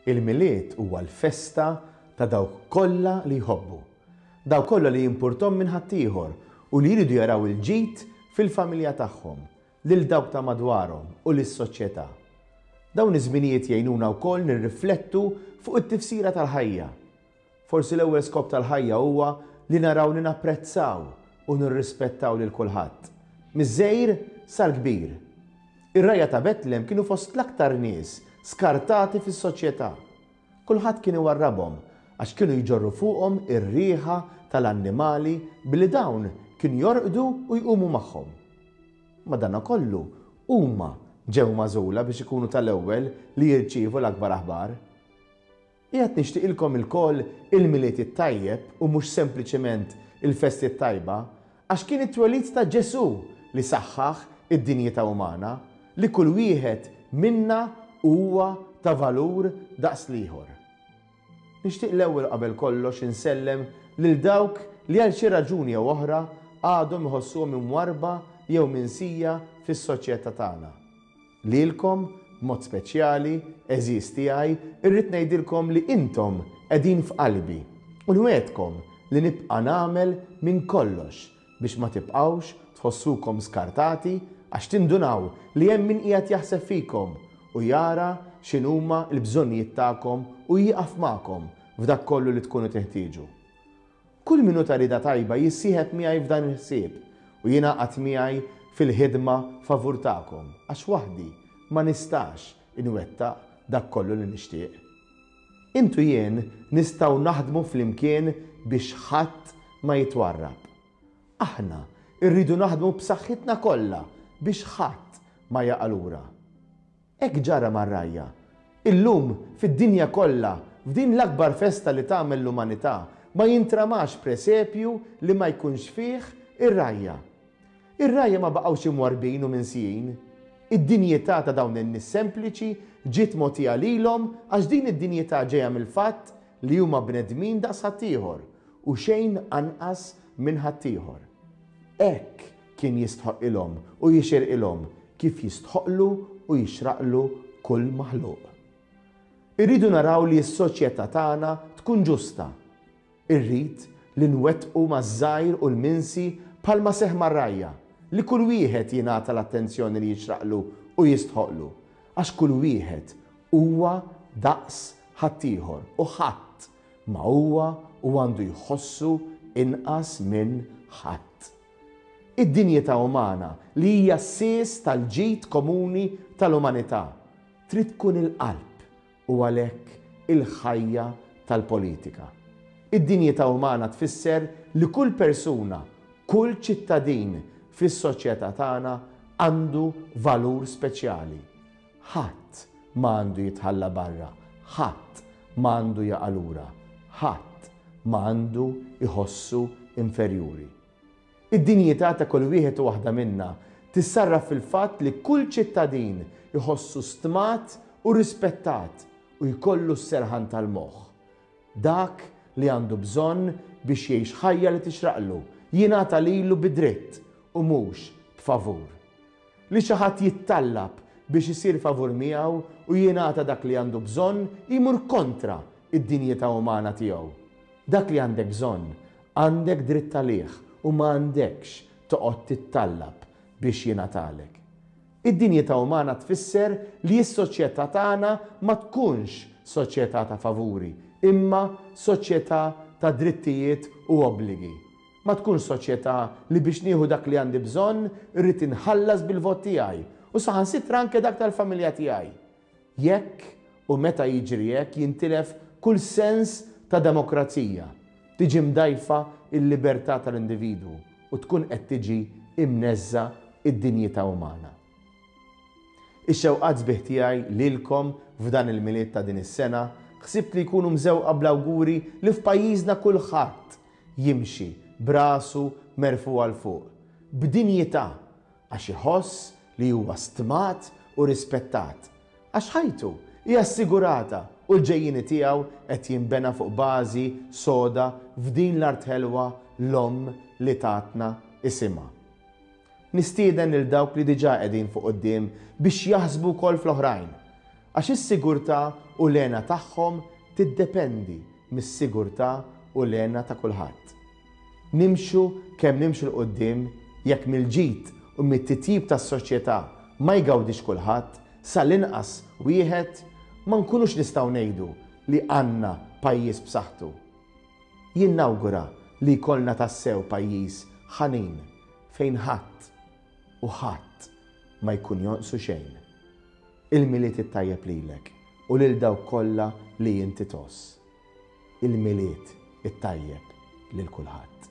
Il-Milied huwa l-festa ta' dawk kollha li jħobbu. Dawk kollha li jimpurthom minn ħaddieħor u li jridu jaraw il-ġid fil-familja tagħhom, lil dawk ta' madwarhom u lis-soċjetà. Dawn iż-żminijiet jgħinuna wkoll nirriflettu fuq it-tifsira tal-ħajja. Forsi l-ewwel skop tal-ħajja huwa li naraw li napprezzaw u nirrispettaw lil kulħadd, miż-żgħir sal-kbir. Ir-rgħajja ta' Betlem kienu fost l-aktar nies skartati fis-soċjetà. Kulħadd kien iwarrabhom għax kienu jġorru fuqhom ir-riħa tal-annimali billi dawn kienu jorqdu u jqumu magħhom. Madankollu, huma ġew magħżula biex ikunu tal-ewwel li jirċievu l-akbar aħbar. Qiegħed nixtieqilkom ilkoll il-Milied it-tajjeb u mhux sempliċement il-festi t-tajba, għax kien it-twelid ta' Ġesù li saħħaħ id-dinjità umana, li kull wieħed minna huwa ta' valur daqs l-ieħor. Nixtieq l-ewwel u qabel kollox insellem lil dawk li għal xi raġuni jew oħra għadhom iħossuhom imwarrba jew minsija fis-soċjetà tagħna. Lilkom, b'mod speċjali, għeżież tiegħi, irrid ngħidilkom li intom qegħdin f'qalbi u nwegħedkom li nibqa' nagħmel minn kollox biex ma tibqgħux tħossukom skartati għax tindunaw li hemm min qiegħed jaħseb fikom u jara x'inhuma l-bżonnijiet tagħkom u jieqaf magħkom f'dak kollu li tkunu tinħtieġu. Kull min hu ta' rieda tajba jissieħeb miegħi f'dan il-ħsieb u jingħaqad miegħi fil-ħidma favur tagħkom, għax waħdi ma nistax inwettaq dak kollu li nixtieq. Int u jien nistgħu naħdmu flimkien biex ħadd ma jitwarrab. Aħna rridu naħdmu b'saħħitna kollha biex ħadd ma jaqa' lura. Hekk ġara mar-rgħajja. Illum, fid-dinja kollha, f'din l-akbar festa li tagħmel l-umanità, ma jintramax presepju li ma jkunx fih ir-rgħajja. Ir-rgħajja ma baqgħux imwarrbin u minsijin. Id-dinjità ta' dawn in-nies sempliċi ġiet mogħtija lilhom għax din id-dinjità ġejja mill-fatt li huma bnedmin daqs ħaddieħor u xejn anqas minn ħaddieħor. Hekk kien jistħoqqilhom u jixirqilhom kif jistħoqqlu u jixraqlu kull maħluq. Irridu naraw li s-soċjetà tagħna tkun ġusta. Irrid li nwettqu maż-żgħir u l-minsi bħalma seħħ mar-rgħajja, li kull wieħed jingħata l-attenzjoni li jixraqlu u jistħoqqlu, għax kull wieħed huwa daqs ħaddieħor u ħadd ma huwa u għandu jħossu inqas minn ħadd. Id-dinjità umana, li hija s-sies tal-ġid komuni tal-umanità, trid tkun il-qalb u għalhekk il-ħajja tal-politika. Id-dinjità umana tfisser li kull persuna, kull ċittadin fis-soċjetà tagħna għandu valur speċjali. Ħadd ma għandu jitħalla barra, ħadd ma għandu jaqa' lura, ħadd ma għandu jħossu inferjuri. Id-dinjità ta' kull wieħed u waħda minna tissarraf fil-fatt li kull ċittadin iħossu stmat u rispettat u jkollu s-serħan tal-moħħ. Dak li għandu bżonn biex jgħix ħajja li tixraqlu jingħata lilu bi dritt u mhux b'favur. Li xi ħadd jittallab biex isir favur miegħu u jingħata dak li għandu bżonn jmur kontra d-dinjità umana tiegħu. Dak li għandek bżonn, għandek dritt għalih u ma għandekx toqgħod tittallab biex jingħatalek. Id-dinjità umana tfisser li s-soċjetà tagħna ma tkunx soċjetà ta' favuri, imma soċjetà ta' drittijiet u obbligi. Ma tkunx soċjetà li biex nieħu dak li għandi bżonn irrid inħallas bil-vot tiegħi u saħansitra anke dak tal-familja tiegħi. Jekk u meta jiġri hekk jintilef kull sens ta' demokrazija, tiġi mdgħajfa l-libertà tal-individwu u tkun qed tiġi imneżża' d-dinjità umana. Ix-xewqat sbieħ tiegħi lilkom f'dan il-Milied ta' din is-sena ħsibt li jkunu mżewqa bl-awguri li f'pajjiżna kulħadd jimxi b'rasu merfugħa 'l fuq, b'dinjità għax iħoss li huwa stmat u rispettat, għax ħajtu hi assigurata u l-ġejjieni tiegħu qed jinbena fuq bażi soda f'din l-art ħelwa l-omm li tatna isimha. Nistieden lil dawk li diġà qegħdin fuq quddiem biex jaħsbu wkoll fl-oħrajn. Għax is-sigurtà u l-hena tagħhom tiddependi mis-sigurtà u l-hena ta' kulħadd. Nimxu kemm nimxu 'l quddiem, jekk mill-ġid u mit-titjib tas-soċjetà ma jgawdix kulħadd, sal-inqas wieħed, ma nkunux nistgħu ngħidu li għandna pajjiż b'saħħtu. Jien nawgura li jkollna tassew pajjiż ħanin fejn ħadd u ħadd ma jkun jonqsu xejn. Il-Milied it-tajjeb lilek u lil dawk kollha li inti tgħożż. Il-Milied it-tajjeb lil kulħadd.